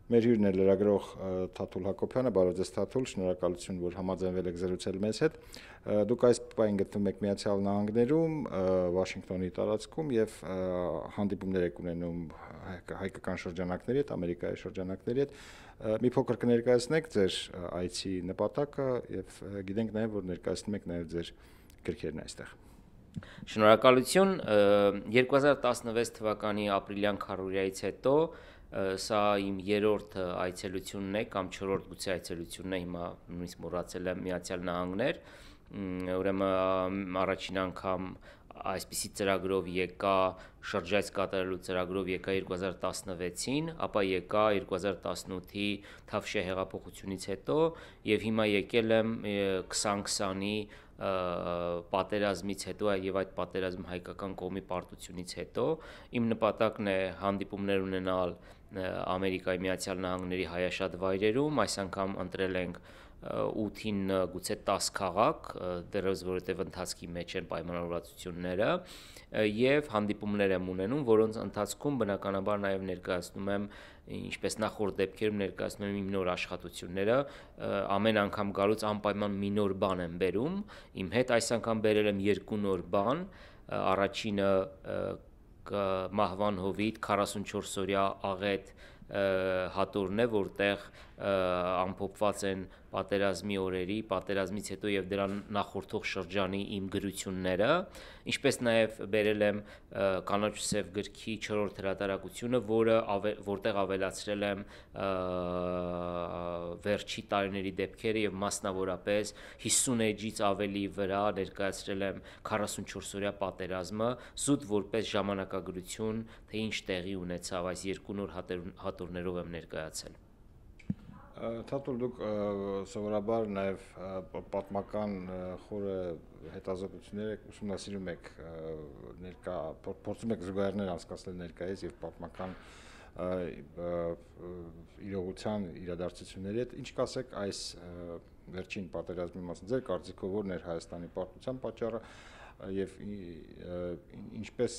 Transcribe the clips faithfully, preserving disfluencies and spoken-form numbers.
Մեր հյուրն է լրագրող Թաթուլ Հակոբյանը, բարև ձեզ Թաթուլ, շնորհակալություն, որ համաձայնվել եք զրուցել մեզ հետ։ Դուք այս պահին գտնվում եք Միացյալ Նահանգներում, Վաշինգտոնի տարածքում եւ հանդիպումներ եք ունենում հայկական շրջանակների հետ, Ամերիկայի շրջանակների հետ։ Մի փոքր կներկայացնեք ձեր այցի նպատակը եւ գիտենք նաեւ, որ ներկայացնում եք նաեւ ձեր գրքերն այստեղ։ Շնորհակալություն, երկու հազար տասնվեց թվականի ապրիլյան քառորիայից հետո սա իմ երրորդ այցելությունն է կամ չորրորդ գուցե այցելությունն է, հիմա նույնիսկ մոռացել եմ Միացյալ Նահանգներ, ուրեմն առաջին անգամ այսպիսի ծրագրով եկա շրջայց կատարելու ծրագրով եկա երկու հազար տասնվեցին, ապա եկա երկու հազար տասնութի Թավշյա հեղափոխությունից հետո եւ հիմա եկել եմ քսան քսանի պատերազմից հետո եւ այդ պատերազմի հայկական կողմի պարտությունից հետո իմ նպատակն է հանդիպումներ ունենալ Ամերիկայի Միացյալ Նահանգների հայաշատ վայրերում, այս անգամ ընտրել ենք ութին գուցե տաս քաղաք, դեռևս որովհետև ընթացքի մեջ են պայմանավորվածությունները եւ հանդիպումներ եմ ունենում, որոնց ընթացքում բնականաբար նաեւ ներկայացնում եմ, ինչպես նախորդ դեպքերում ներկայացնում եմ իմ նոր աշխատությունները, ամեն անգամ գալուց անպայման մի նոր բան եմ բերում, իմ հետ այս անգամ բերել եմ երկու նոր բան, առաջինը մահվան հովիտ քառասունչորս օրյա աղետ հատորն է, որտեղ ամփոփված են պատերազմի օրերի, պատերազմից հետո եւ դրան նախորդող շրջանի իմ գրությունները, ինչպես նաեւ բերել եմ Կանաչ ու սև գրքի չորրորդ հրատարակությունը, որը որտեղ ավելացրել եմ վերջի տարիների դեպքերը եւ մասնավորապես հիսուն էջից ավելի վրա ներկայացրել եմ քառասունչորս օրյա պատերազմը, զուտ որպես ժամանակագրություն, թե ինչ տեղի ունեցավ, այս երկու նոր հատորներով եմ ներկայացել։ Թաթուլ, դուք սովորաբար նաև պատմական խորը հետազոտություններ եք ուսումնասիրում եք ներկա, փորձում եք զուգահեռներ անցկացնել ներկայից եւ պատմական իրողության իրադարձությունների հետ, ինչ կասեք այս վերջին պատերազմի մասին, ձեր կարծիքով ո՞րն էր Հայաստանի պարտության պատճառը եւ ինչպես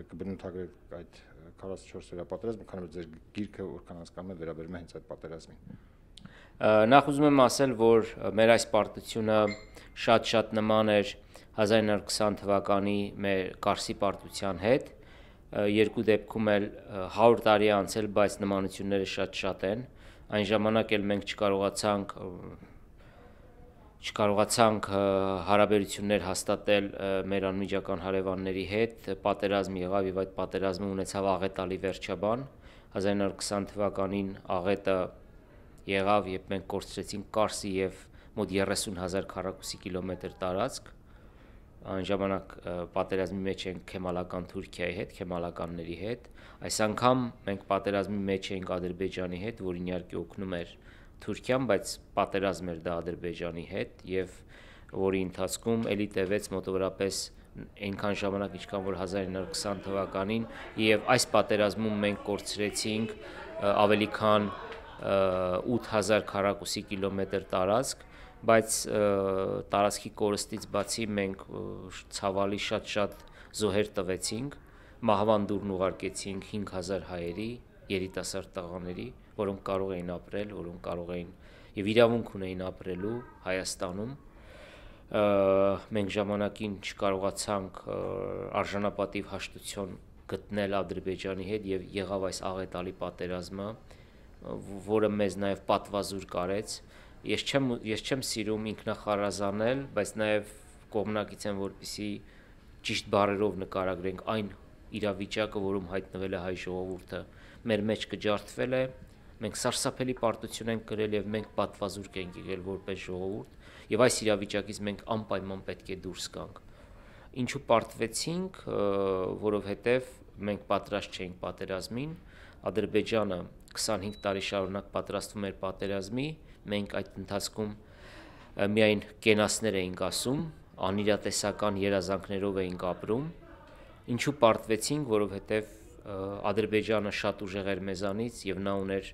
կբնութագրեք այդ քառասունչորս օրյա պատերազմը, քանի որ ձեր գիրքը որքան հասկանում եմ վերաբերում է հենց այդ պատերազմին։ Նախ ուզում եմ ասել, որ մեր այս պարտությունը շատ-շատ նման էր հազար ինը հարյուր քսան թվականի մեր Կարսի պարտության հետ, երկու դեպքում էլ հարյուր տարի անցել, բայց նմանությունները շատ-շատ են, այն ժամանակ էլ մենք չկարողացանք չկարողացանք հարաբերություններ հաստատել մեր անմիջական հարևանների հետ, պատերազմ եղավ եւ այդ պատերազմը ունեցավ աղետալի վերջաբան, հազար ինը հարյուր քսան թվականին աղետը եղավ, երբ մենք կորցրեցինք Կարսի եւ մոտ երեսուն հազար քառակուսի կիլոմետր տարածք, այն ժամանակ պատերազմի մեջ ենք քեմալական Թուրքիայի հետ, քեմալականների հետ, այս անգամ մենք պատերազմի մեջ ենք Ադրբեջանի հետ, որին իհարկե օգնում էր Թուրքիան, բայց պատերազմ էր դա Ադրբեջանի հետ եւ որի ընթացքում էլի տևեց մոտավորապես այնքան ժամանակ, ինչքան որ հազար ինը հարյուր քսան թվականին եւ այս պատերազմում մենք կորցրեցինք ավելի քան ութ հազար քառակուսի կիլոմետր տարածք, բայց տարածքի կորստից բացի մենք ցավալի շատ-շատ զոհեր տվեցինք, մահվան դուրն ուղարկեցինք հինգ հազար հայերի, երիտասարդ տղաների, որոնք կարող էին ապրել, որոնք կարող էին եւ իրավունք ունեին ապրելու Հայաստանում, մենք ժամանակին չկարողացանք արժանապատիվ հաշտություն գտնել Ադրբեջանի հետ եւ եղավ այս աղետալի պատերազմը, որը մեզ նաև պատվազուր կարեց, ես չեմ, ես չեմ սիրում ինքնախարազանել, բայց նաև կողմնակից եմ, որպեսզի ճիշտ բառերով նկարագրենք այն իրավիճակը, որում հայտնվել է հայ ժողովուրդը, մեր մեջ կջարդվել է, մենք սարսափելի պարտություն ենք կրել եւ մենք պատվազուրկ ենք եղել որպես ժողովուրդ եւ այս իրավիճակից մենք անպայման պետք է դուրս գանք։ Ինչու պարտվեցինք, որովհետեւ մենք պատրաստ չէինք պատերազմին, Ադրբեջանը քսանհինգ տարի շարունակ պատրաստվում էր պատերազմի, մենք այդ ընթացքում միայն կենասներ էինք ասում, անիրատեսական երազանքներով էինք ապրում, ինչու պարտվեցինք, որովհետև Ադրբեջանը շատ ուժեղ էր մեզանից եւ նա ուներ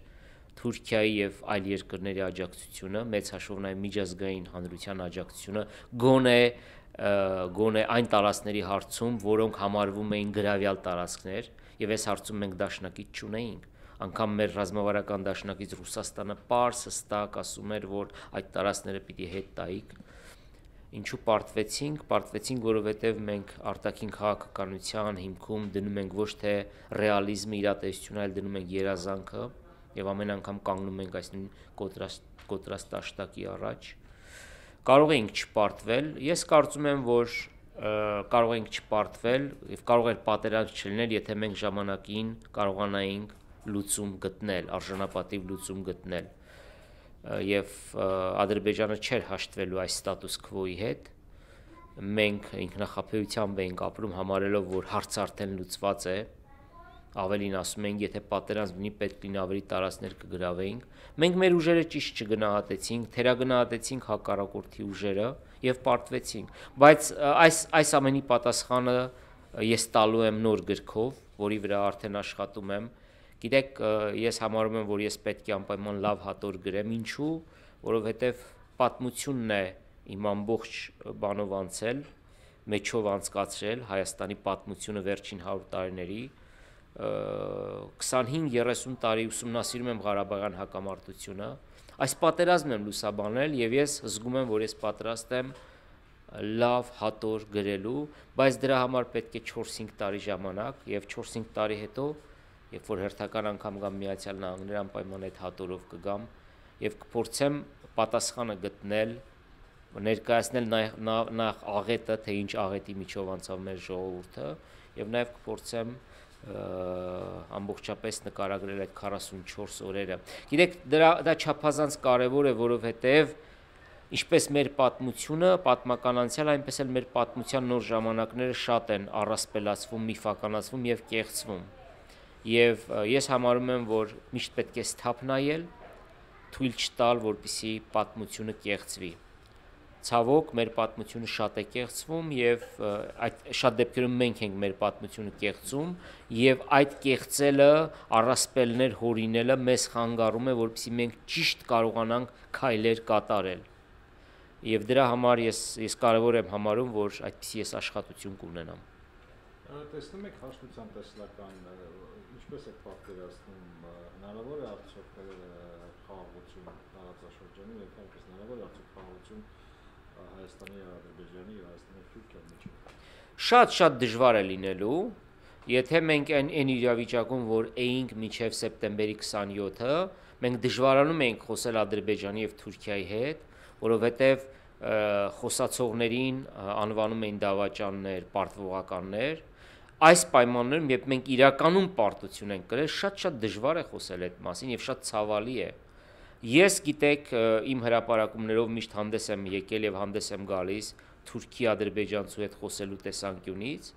Թուրքիայի եւ այլ երկրների աջակցությունը, մեծ հաշվով նաեւ միջազգային հանրության աջակցությունը, գոնե գոնե այն տարածքների հարցում, որոնք համարվում էին գրավյալ տարածքներ, եւ այս հարցում մենք դաշնակից չունեինք։ անգամ մեր ռազմավարական դաշնակից Ռուսաստանը պարզ հստակ ասում էր, որ այդ տարածքները պիտի հետ տայիք։ Ինչու պարտվեցինք, պարտվեցինք, որովհետև մենք արտաքին քաղաքականության հիմքում դնում ենք ոչ թե ռեալիզմը, իրատեսությունը, այլ դնում ենք երազանքը եւ ամեն անգամ կանգնում ենք այս նույն կոտրաստ աշտակի առաջ։ Կարող ենք չպարտվել, ես կարծում եմ, որ կարող ենք չպարտվել եւ կարող էր պատերազմ չլինել, եթե մենք ժամանակին կարողանայինք լուծում գտնել, արժանապատիվ լուծում գտնել։ Եվ Ադրբեջանը չէր հաշտվելու այս ստատուս քվոյի հետ, մենք ինքնախապեյությամբ էինք ապրում, համարելով, որ հարցը արդեն լուծված է, ավելին ասում ենք, եթե պատերազմ լինի, պետք լինի ավելի տարածքներ կգրավեինք, մենք մեր ուժերը ճիշտ չգնահատեցինք, թերագնահատեցինք հակառակորդի ուժերը եւ պարտվեցինք, բայց այս այս ամենի պատասխանը ես տալու եմ նոր գրքով, որի վրա արդեն աշխատում եմ։ Գիտեք, ես համարում եմ, որ ես պետք է անպայման լավ հատոր գրեմ, ինչու, որովհետև պատմությունն է իմ ամբողջ բանով անցել, մեջով անցկացրել Հայաստանի պատմությունը վերջին հարյուր տարիների, քսանհինգ երեսուն տարի ուսումնասիրում եմ Ղարաբաղյան հակամարտությունը, այս պատերազմն եմ լուսաբանել եւ ես զգում եմ, որ ես պատրաստ եմ լավ հատոր գրելու, բայց դրա համար պետք է չորս-հինգ տարի ժամանակ եւ չորս-հինգ տարի հետո երբ որ հերթական անգամ գամ Միացյալ Նահանգներ, անպայման այդ հատորով կգամ եւ կփորձեմ պատասխանը գտնել, ներկայացնել նախ աղետը, թե ինչ աղետի միջով անցավ մեր ժողովուրդը եւ նաեւ կփորձեմ ամբողջապես նկարագրել այդ քառասունչորս օրերը։ Գիտեք, դրա դա չափազանց կարեւոր է, որովհետեւ ինչպես մեր պատմությունը, պատմական անցյալ, այնպես էլ մեր պատմության նոր ժամանակները շատ են առասպելացվում, միֆականացվում եւ կեղծվում։ Եվ ես համարում եմ, որ միշտ պետք է սթափ նայել, թույլ չտալ, որպեսզի պատմությունը կեղծվի։ Ցավոք, մեր պատմությունը շատ է կեղծվում եւ այդ շատ դեպքերում մենք ենք մեր պատմությունը կեղծում եւ այդ կեղծելը, առասպելներ հորինելը մեզ խանգարում է, որպեսզի մենք ճիշտ կարողանանք քայլեր կատարել։ Եվ դրա համար ես ես կարևոր եմ համարում, որ այդպիսի ես աշխատություն կունենամ։ Տեսնում եք հաշտության տեսլական ինչպես է պատկերացնում, հնարավոր է արդյոք խաղաղություն տարածաշրջանում, եթե այնպես հնարավոր է արդյոք խաղաղություն Հայաստանի եւ Ադրբեջանի եւ Հայաստանի եւ Թուրքիայի միջեւ։ Շատ-շատ դժվար է լինելու, եթե մենք այն այն իրավիճակում, որ էինք մինչև սեպտեմբերի քսանյոթը, մենք դժվարանում էինք խոսել Ադրբեջանի եւ Թուրքիայի հետ, որովհետեւ խոսացողներին անվանում էին դավաճաններ, պարտվողականներ։ Այս պայմաններում, երբ մենք իրականում պարտություն ենք կրել, շատ-շատ դժվար է խոսել այդ մասին եւ շատ ցավալի է։ Ես գիտեք, իմ հրապարակումներով միշտ հանդես եմ եկել եւ հանդես եմ գալիս Թուրքի-ադրբեջանցու հետ խոսելու տեսանկյունից,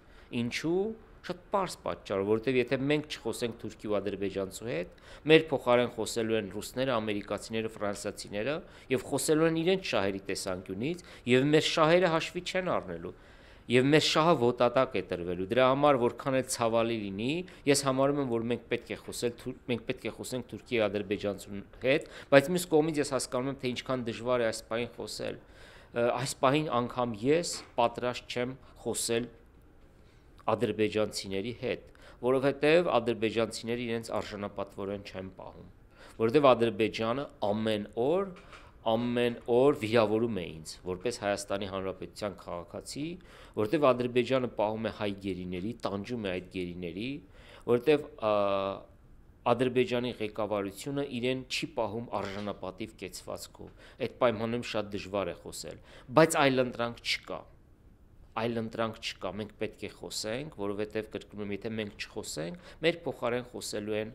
ինչու շատ պարզ պատճառով, որովհետեւ եթե մենք չխոսենք Թուրքի ու ադրբեջանցու հետ, մեր փոխարեն խոսելու են ռուսները, ամերիկացիները, ֆրանսիացիները եւ խոսելու են իրենց շահերի տեսանկյունից եւ մեր շահերը հաշվի չեն առնելու։ Եվ մեր շահը ոտատակ է տրվելու։ Դրա համար որքան էլ ցավալի լինի, ես համարում եմ, որ մենք պետք է խոսել, մենք պետք է խոսենք Թուրքիայի եւ Ադրբեջանցու հետ, բայց մյուս կողմից ես հասկանում եմ, թե ինչքան դժվար է այս պահին խոսել։ Այս պահին անգամ ես պատրաստ չեմ խոսել ադրբեջանցիների հետ, որովհետեւ ադրբեջանցիները իրենց արժանապատվորեն չեն պահում, որովհետեւ Ադրբեջանը ամեն օր ամեն օր վիրավորում է ինձ, որպես Հայաստանի Հանրապետության քաղաքացի, որտեղ Ադրբեջանը պահում է հայ գերիների, տանջում է այդ գերիների, որտեղ Ադրբեջանի ղեկավարությունը իրեն չի պահում արժանապատիվ կեցվածքով։ Այդ պայմաններում շատ դժվար է խոսել, բայց այլընտրանք չկա։ Այլընտրանք չկա, մենք պետք է խոսենք, որովհետև կրկնում եմ, եթե մենք չխոսենք, մեր փոխարեն խոսելու են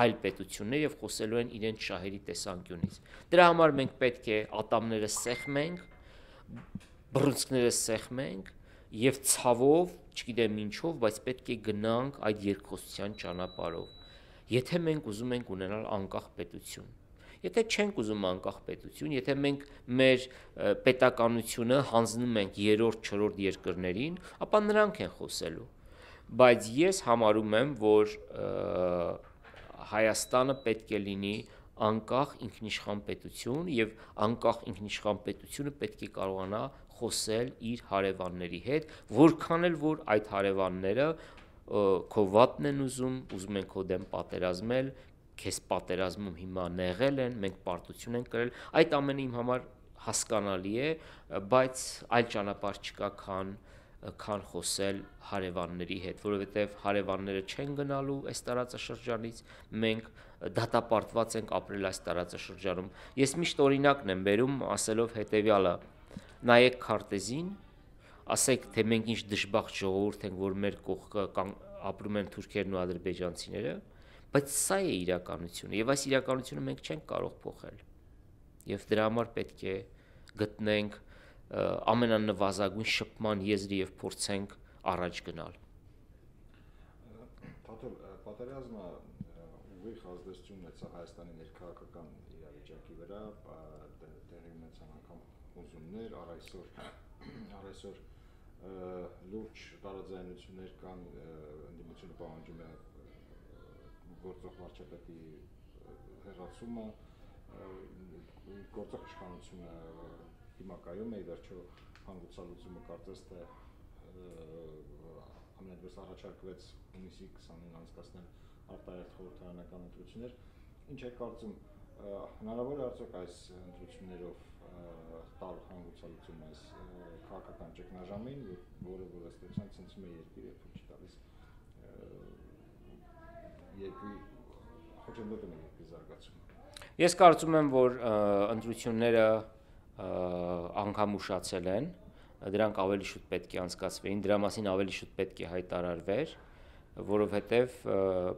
այլ պետություններ եւ խոսելու են իրենց շահերի տեսանկյունից։ Դրա համար մենք պետք է ատամները սեղմենք, բռունցքները սեղմենք եւ ցավով, չգիտեմ ինչով, բայց պետք է գնանք այդ երկխոսության ճանապարհով։ Եթե մենք ուզում ենք ունենալ անկախ պետություն, եթե չենք ուզում անկախ պետություն, եթե մենք մեր պետականությունը հանձնում ենք երրորդ, չորրորդ երկրներին, ապա նրանք են խոսելու։ Բայց ես համարում եմ, որ Հայաստանը պետք է լինի անկախ ինքնիշխան պետություն եւ անկախ ինքնիշխան պետությունը պետք է կարողանա խոսել իր հարևանների հետ, որքան էլ որ այդ հարևանները քո վատն են ուզում, ուզում են քո դեմ պատերազմել, քեզ պատերազմում հիմա նեղել են, մենք պարտություն ենք կրել, այդ ամենը իմ համար հասկանալի է, բայց այլ ճանապարհ չկա, քան քան խոսել հարևանների հետ, որովհետև հարևանները չեն գնալու այս տարածաշրջանից, մենք դատապարտված ենք ապրել այս տարածաշրջանում։ Ես միշտ օրինակն եմ բերում, ասելով հետևյալը. նայեք քարտեզին, ասեք, թե մենք ինչ դժբախտ ժողովուրդ ենք, որ մեր կողքը ապրում են թուրքերն ու ադրբեջանցիները, բայց սա է իրականությունը, եւ այս իրականությունը մենք չենք կարող փոխել։ Եվ դրա համար պետք է գտնենք ամենանվազագույն շփման եզրը եւ փորձենք առաջ գնալ։ Թաթուլ, պատերազմը ուղիղ ազդեցություն ունեցավ Հայաստանի ներքաղաքական իրավիճակի վրա, տեղի ունեցան անգամ ուզումներ, առ այսօր առ այսօր լուրջ տարաձայնություններ կան, ընդդիմությունը պահանջում է գործող վարչապետի հեռացումը, գործող իշխանությունը հիմա կայում է, ի վերջո հանգուցալուծումը կարծես թե ամենևս առաջարկվեց հունիսի քսանինը անցկացնել արտահերթ խորհրդարանական ընտրություններ, ինչ է կարծում, հնարավոր է արդյոք այս ընտրություններով տալ հանգուցալուծում այս քաղաքական ճգնաժամին, որը որ ըստեյության ցնցում է երկիրը, թույլ չի տալիս երկրի խոչընդոտում է երկրի զարգացումը։ Ես կարծում եմ, որ ընտրությունները անգամ ուշացել են, դրանք ավելի շուտ պետք է անցկացվեին, դրա մասին ավելի շուտ պետք է հայտարարվեր, որովհետև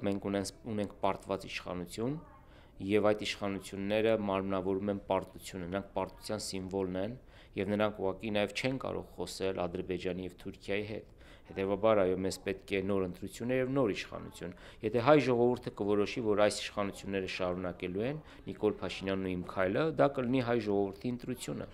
մենք ունենք պարտված իշխանություն եւ այդ իշխանությունները մարմնավորում են պարտությունը, նրանք պարտության սիմվոլն են եւ նրանք ուղղակի նաեւ չեն կարող խոսել Ադրբեջանի եւ Թուրքիայի հետ։ Հետևաբար այո, մեզ պետք է նոր ընտրություններ եւ նոր իշխանություն։ Եթե հայ ժողովուրդը կորոշի, որ այս իշխանությունները շարունակելու են, Նիկոլ Փաշինյանն ու իմ քայլը, դա կլինի հայ ժողովրդի ընտրությունը։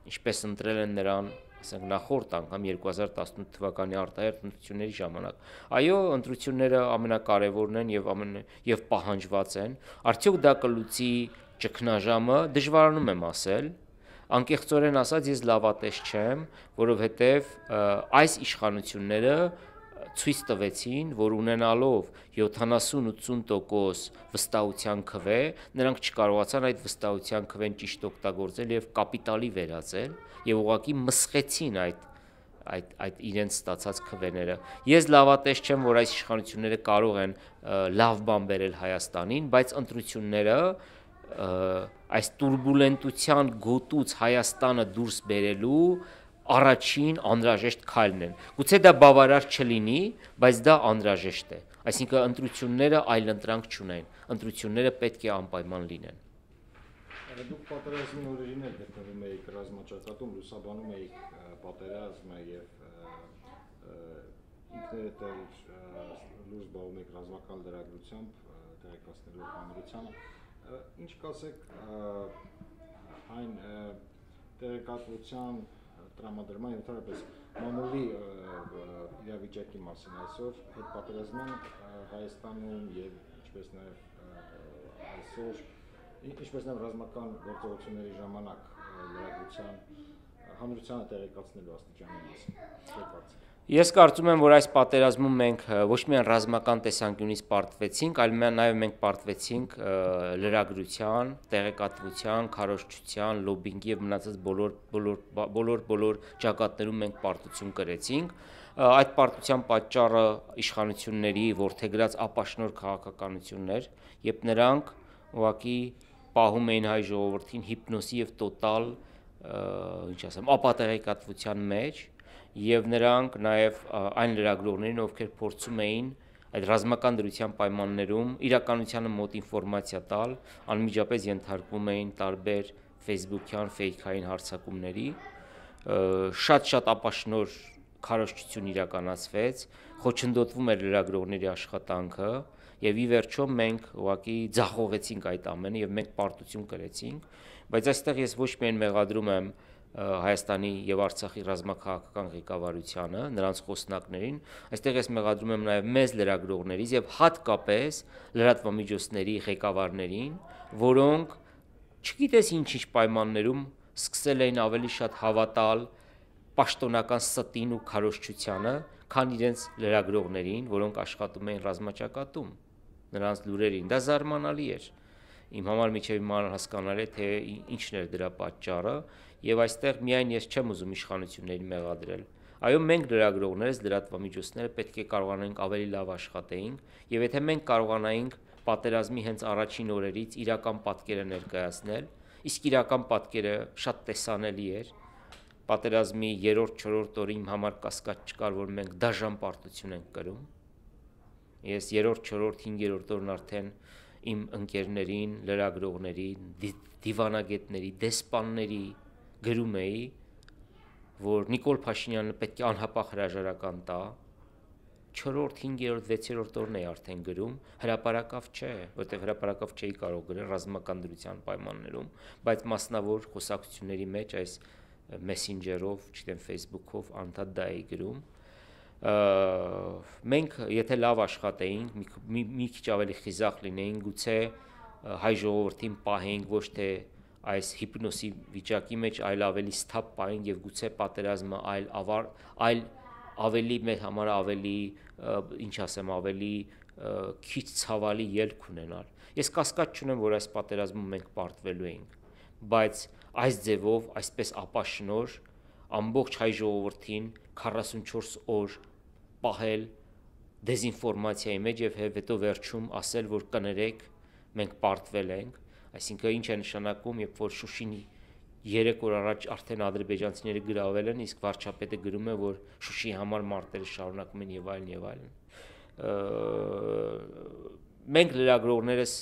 Ինչպես ընտրել են նրան, ասենք նախորդ անգամ երկու հազար տասնութ թվականի արտահերթ ընտրությունների ժամանակ։ Այո, ընտրությունները ամենակարևորն են եւ ամեն եւ պահանջված են։ Արդյոք դա կլուծի ճգնաժամը, դժվարանում եմ ասել։ Անկեղծորեն ասած ես լավատես չեմ, որովհետև այս իշխանությունները ցույց տվեցին, որ ունենալով յոթանասուն-ութսուն տոկոս վստահության քվե, նրանք չկարողացան այդ վստահության քվեն ճիշտ օգտագործել եւ կապիտալի վերածել եւ ուղղակի մսխեցին այդ այդ այդ իրենց ստացած քվեները։ Ես լավատես չեմ, որ այս իշխանությունները կարող են լավ բան բերել Հայաստանին, բայց ընտրությունները այս տուրբուլենտության գոտուց Հայաստանը դուրս բերելու առաջին անհրաժեշտ քայլն են։ Գուցե դա բավարար չլինի, բայց դա անհրաժեշտ է։ Այսինքն ընտրությունները այլընտրանք չունեն, ընտրությունները պետք է անպայման լինեն։ Դուք պատերազմի օրերին էլ գտնվում եք ռազմաճակատում, լուսաբանում եք պատերազմը եւ ինքներդ էլ լույս զբաղվում եք ռազմական լրագրությամբ, տեղեկացնելով հանրությանը։ Ինչ կասեք այն տեղեկատվության տրամադրման եւ ընդհանրապես մամուլի իրավիճակի մասին այսօր հետպատերազմյան Հայաստանում եւ ինչպես նաեւ այսօր ինչպես նաեւ ռազմական գործողությունների ժամանակ լրագրության հանրությանը տեղեկացնելու աստիճանի մասին։ Ես կարծում եմ, որ այս պատերազմում մենք ոչ միայն ռազմական տեսանկյունից պարտվեցինք, այլ նաև մենք պարտվեցինք լրագրության, տեղեկատվության, քարոզչության, լոբինգի եւ մնացած բոլոր բոլոր բոլոր բոլոր ճակատներում մենք պարտություն կրեցինք։ Այդ պարտության պատճառը իշխանությունների որդեգրած ապաշնոր քաղաքականություններ, երբ նրանք ուղղակի պահում էին հայ ժողովրդին հիպնոսի եւ տոտալ, ինչ ասեմ, ապատեղեկատվության մեջ, եւ նրանք նաեւ այն լրագրողներին, ովքեր փորձում էին այդ ռազմական դրության պայմաններում իրականությանը մոտ ինֆորմացիա տալ, անմիջապես ենթարկվում էին տարբեր Facebook-յան ֆեյքային հարձակումների, շատ-շատ ապաշնոր քարոզչություն իրականացվեց, խոչընդոտվում էր լրագրողների աշխատանքը եւ ի վերջո մենք ուղղակի ձախողեցինք այդ ամենը եւ մենք պարտություն կրեցինք, բայց այստեղ ես ոչ միայն մեղադրում եմ Հայաստանի եւ Արցախի ռազմաքաղաքական ղեկավարությանը, նրանց խոսնակներին, այստեղ ես մեղադրում եմ նաեւ մեծ լրագրողներից եւ հատկապես լրատվամիջոցների ղեկավարներին, որոնք չգիտես ինչ-ինչ պայմաններում սկսել էին ավելի շատ հավատալ պաշտոնական ստին ու քարոզչությանը, քան իրենց լրագրողներին, որոնք աշխատում էին ռազմաճակատում, նրանց լուրերին։ Դա զարմանալի էր։ Իմ համար միջև իմանալ հասկանալի է, թե ինչն էր դրա պատճառը, եւ այստեղ միայն ես չեմ ուզում իշխանություններին մեղադրել։ Այո, մենք լրագրողներս, լրատվամիջոցները պետք է կարողանանք ավելի լավ աշխատեինք, եւ եթե մենք կարողանայինք պատերազմի հենց առաջին օրերից իրական պատկերը ներկայացնել, իսկ իրական պատկերը շատ տեսանելի էր։ Պատերազմի երրորդ, չորրորդ օրը իմ համար կասկած չկար, որ մենք դաժան պարտություն ենք կրում։ Ես երրորդ, չորրորդ, հինգերորդ օրն արդեն իմ ընկերներին, լրագրողներին, դիվանագետների, դեսպանների գրում էի, որ Նիկոլ Փաշինյանը պետք է անհապաղ հրաժարական տա, չորրորդ, հինգերորդ, վեցերորդ օրն էի արդեն գրում, հրապարակավ չէ, որտեղ հրապարակավ չէի կարող գրել ռազմական դրության պայմաններում, բայց մասնավոր խոսակցությունների մեջ այս մեսենջերով, չգիտեմ, Facebook-ով անդադ դա էի գրում։ Մենք եթե լավ աշխատեինք, մի, մի, մի քիչ ավելի խիզախ լինեինք, գուցե հայ ժողովրդին պահեինք ոչ թե այս հիպնոսի վիճակի մեջ, այլ ավելի սթափ պահենք եւ գուցե պատերազմը այլ ավար, այլ ավելի մեր համար ավելի, ինչ ասեմ, ավելի քիչ ցավալի ելք ունենալ։ Ես կասկած չունեմ, որ այս պատերազմում մենք պարտվելու ենք, բայց այս ձևով, այսպես ապաշնոր ամբողջ հայ ժողովրդին քառասունչորս օր պահել դեզինֆորմացիայի մեջ եւ հետո վերջում ասել, որ կներեք, մենք պարտվել ենք, այսինքն ինչ է նշանակում, երբ որ Շուշին երեք օր առաջ արդեն ադրբեջանցիները գրավել են, իսկ վարչապետը գրում է, որ Շուշիի համար մարտերը շարունակում են եւ այլն եւ այլն։ Մենք լրագրողներս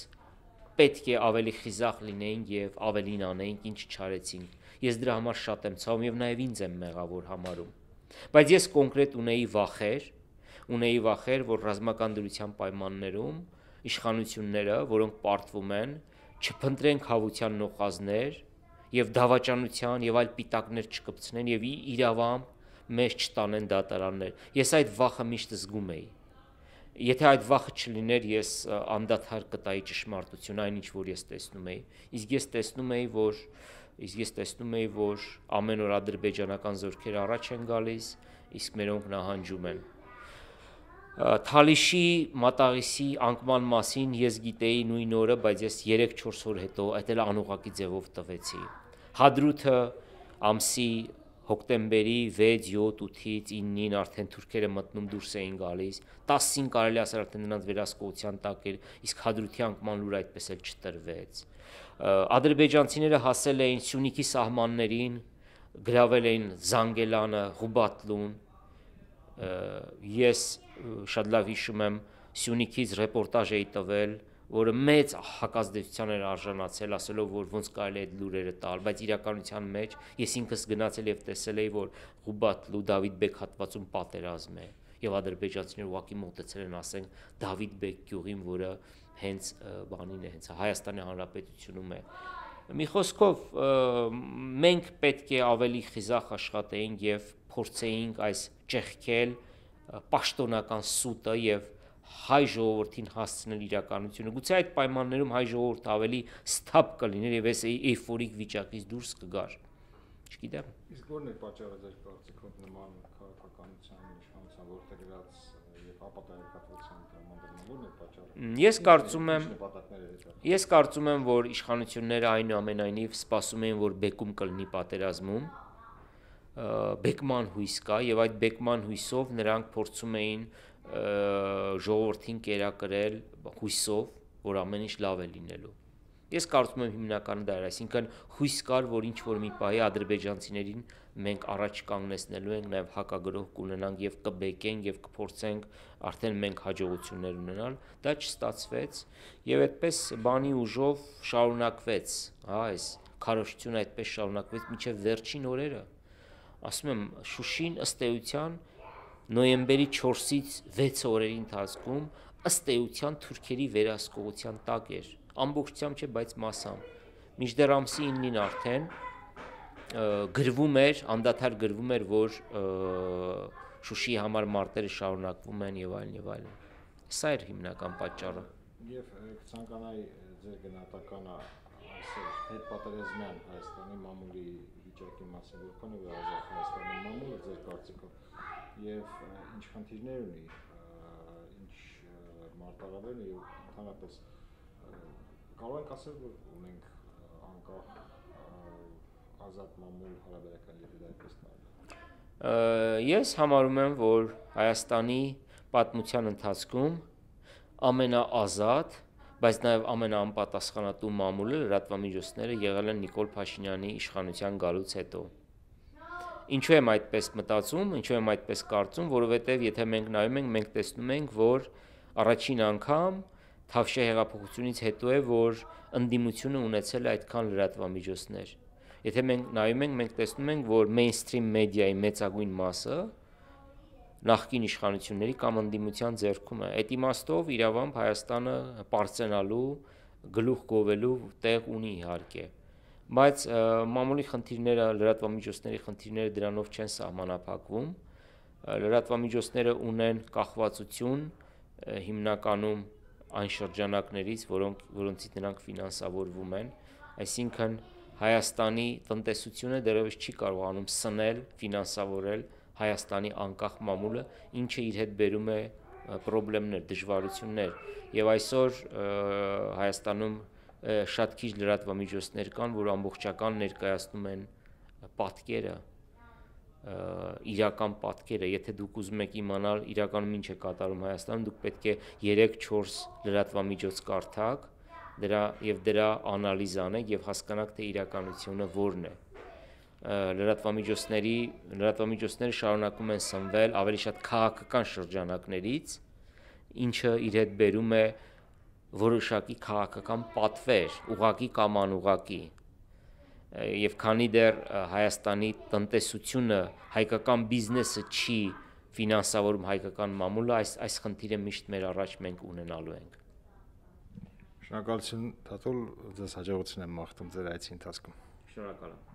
պետք է ավելի խիզախ լինեինք եւ ավելին անեինք, ինչ չարեցինք։ Ես դրա համար շատ եմ ցավում եւ նաեւ ինձ եմ մեղավոր համարում։ Բայց ես կոնկրետ ունեի վախեր, ունեի վախեր, որ ռազմական դրության պայմաններում իշխանությունները, որոնք պարտվում են, չփնտրեն խավության նոխազներ եւ դավաճանության եւ այլ պիտակներ չկպցնեն եւ իրավամբ մեզ չտանեն դատարաններ։ Ես այդ վախը միշտ զգում էի։ Եթե այդ վախը չլիներ, ես անդադար կտայի ճշմարտություն այն ինչ որ ես տեսնում էի։ Իսկ ես տեսնում էի, որ իսկ ես տեսնում էի, որ ամեն օր ադրբեջանական զորքերը առաջ են գալիս, իսկ մերոնք նահանջում են։ Թալիշի մատաղիսի անկման մասին ես գիտեի նույն օրը, բայց ես երեք-չորս օր հետո այդ էլ անուղակի ձևով տվեցի։ Հադրութը ամսի հոկտեմբերի վեց, յոթ, ութից իննին արդեն թուրքերը մտնում դուրս էին գալիս, տասին կարելի ասել արդեն նրանց վերահսկողության տակ էր, իսկ Հադրութի անկման լուրը այդպես էլ չտրվեց։ Ադրբեջանցիները հասել էին Սյունիքի սահմաններին, գրավել էին Զանգելանը, Ղուբատլուն։ Ես շատ լավ հիշում եմ, Սյունիքից ռեպորտաժ էի տվել, որը մեծ հակազդեցության էր արժանացել, ասելով, որ ոնց կարելի է այդ լուրերը տալ, բայց իրականության մեջ ես ինքս գնացել եւ տեսել էի, որ Ղուբատլու Դավիթ Բեկ հատվածում պատերազմ է, եւ ադրբեջանցիները ուղղակի մոտեցել են, ասենք, Դավիթ Բեկ գյուղին, որը հենց բանին է, հենց Հայաստանի Հանրապետությունում է։ Մի խոսքով, մենք պետք է ավելի խիզախ աշխատեինք եւ փորձեինք այս ճեղքել պաշտոնական սուտը եւ հայ ժողովրդին հասցնել իրականությունը։ Գուցե այդ պայմաններում հայ ժողովուրդը ավելի սթափ կլիներ եւ այս էյֆորիկ վիճակից դուրս կգար։ Չգիտեմ։ Իսկ ո՞րն է պատճառը ձեր կարծիքով նման քաղաքականության իշխանության որտեղած եւ ապատայակատվության տրամադրման ո՞րն է պատճառը։ Ես կարծում եմ Ես կարծում եմ, որ իշխանությունները այնուամենայնիվ սպասում էին, որ բեկում կլինի պատերազմում, բեկման հույս կա եւ այդ բեկման հույսով նրանք փորձում էին ժողովրդին կերակրել հույսով, որ ամեն ինչ լավ է լինելու։ Ես կարծում եմ հիմնականը դա էր, այսինքն հույս կար, որ ինչ որ մի պահի ադրբեջանցիներին մենք առաջ կանգնեցնելու ենք, նաեւ հակագրող կունենանք եւ կբեկենք եւ կփորձենք արդեն մենք հաջողություններ ունենալ, դա չստացվեց եւ այդպես բանի ուժով շարունակվեց, հա, այս քարոզությունը այդպես շարունակվեց մինչեւ վերջին օրերը։ Ասում եմ, Շուշին ըստ էության նոյեմբերի չորսից վեց օրերի ընթացքում ըստ էության թուրքերի վերահսկողության տակ էր, ամբողջությամբ չէ, բայց մասամբ։ Մինչդեռ ամսի իննին արդեն գրվում էր, անդադար գրվում էր, որ Շուշիի համար մարտերը շարունակվում են եւ այլն եւ այլն։ Սա էր հիմնական պատճառը։ Եվ կցանկանայի ձեր գնահատականը այսօր հետպատերազմյան Հայաստանի մամուլի վիճակի մասին, որքան է ազատ Հայաստանի մամուլը ձեր կարծիքով եւ ինչ խնդիրներ ունի, ինչ մարտահրավեր ունի եւ ընդհանրապես կարող ենք ասել, որ ունենք անկախ ազատ մամուլ հարաբերական եթե դա այդպես նայել։ Ես համարում եմ, որ Հայաստանի պատմության ընթացքում ամենաազատ, բայց նաև ամենաանպատասխանատու մամուլը լրատվամիջոցները եղել են Նիկոլ Փաշինյանի իշխանության գալուց հետո։ Ինչու եմ այդպես մտածում, ինչու եմ այդպես կարծում, որովհետև եթե մենք նայում ենք, մենք տեսնում ենք, որ առաջին անգամ Թավշյա հեղափոխությունից հետո է, որ ընդդիմությունը ունեցել է այդքան լրատվամիջոցներ։ Եթե մենք նայում ենք, մենք տեսնում ենք, որ mainstream մեդիայի մեծագույն մասը նախկին իշխանությունների կամ ընդդիմության ձեռքում է։ Այդ իմաստով իրավամբ Հայաստանը պարծենալու, գլուխ գովելու տեղ ունի իհարկե։ Բայց մամուլի խնդիրները, լրատվամիջոցների խնդիրները դրանով չեն սահմանափակվում։ Լրատվամիջոցները ունեն կախվածություն հիմնականում այն շրջանակներից, որոնք որոնցից նրանք ֆինանսավորվում են, այսինքն Հայաստանի տնտեսությունը դեռևս չի կարողանում սնել, ֆինանսավորել Հայաստանի անկախ մամուլը, ինչը իր հետ բերում է խնդիրներ, դժվարություններ, եւ այսօր Հայաստանում շատ քիչ լրատվամիջոցներ կան, որ ամբողջական ներկայացնում են պատկերը, իրական պատկերը, եթե դուք ուզում եք իմանալ իրականում ինչ է կատարում Հայաստանում, դուք պետք է երեք-չորս լրատվամիջոց կարդաք, դրա եւ դրա անալիզ անեք եւ հասկանաք, թե իրականությունը որն է։ Լրատվամիջոցների լրատվամիջոցները շարունակում են սնվել ավելի շատ քաղաքական շրջանակներից, ինչը իր հետ բերում է որոշակի քաղաքական պատվեր, ուղղակի կամ անուղղակի։ Եվ քանի դեռ Հայաստանի տնտեսությունը, հայկական բիզնեսը չի ֆինանսավորում հայկական մամուլը, այս այս խնդիրը միշտ մեր առաջ մենք ունենալու ենք։ Շնորհակալություն Թաթուլ, ձեզ հաջողություն եմ մաղթում ձեր այցի ընթացքում։ Շնորհակալ եմ։